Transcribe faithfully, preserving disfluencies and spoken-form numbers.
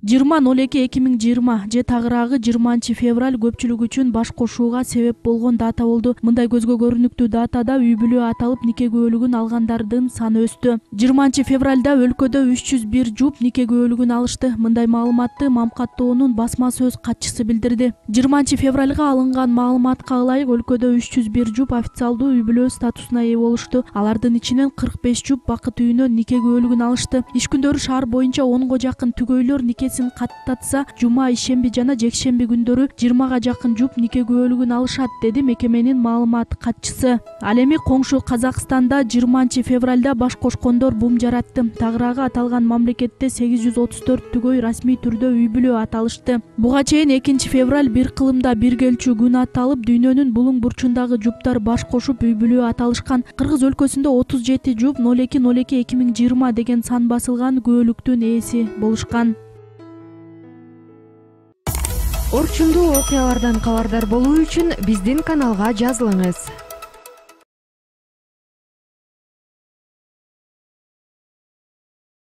жыйырма ноль эки эки миң жыйырма же тагыраагы жыйырманчы февраль көпчүлүк үчүн баш кошууга себеп болгон дата болду. Мындай көзгө көрүнүктүү датада үй бүлө аталып нике күбөлүгүн алгандардын саны өстү. жыйырманчы февралда өлкөдө үч жүз бир жуп нике күбөлүгүн алышты. Мындай маалыматты Мамкаттоонун басма сөз катчысы билдирди. жыйырманчы февралга алынган маалыматка ылайык өлкөдө үч жүз бир жуп официалдуу үй бүлө статусуна ээ болушту. Алардын ичинен кырк беш жуп бакыт үйүнөн нике күбөлүгүн алышты. Иш күндөрү шаар боюнча онго жакын түгөйлөр никесин каттатса, жума, ишемби жана жекшемби күндөрү жыйырмага жакын жуп нике күбөлүгүн алышат, деди мекеменин маалымат катчысы. Ал эми коңшу Казакстанда жыйырманчы февралда баш кошкондор бум жаратты. Тагыраагы аталган мамлекетте сегиз жүз отуз төрт түгөй расмий түрдө үй бүлө аталышты. Буга чейин экинчи февраль бир кылымда биргелчү күн аталып, дүйнөнүн булуң бурчундагы жуптар баш кошуп үй бүлө аталышкан. Кыргыз өлкөсүндө отуз жети жуп ноль эки ноль эки эки миң жыйырма деген сан басылган күбөлүктүн ээси болушкан. Орчундуу окуялардан кабардар болуу үчүн биздин каналга жазылыңыз.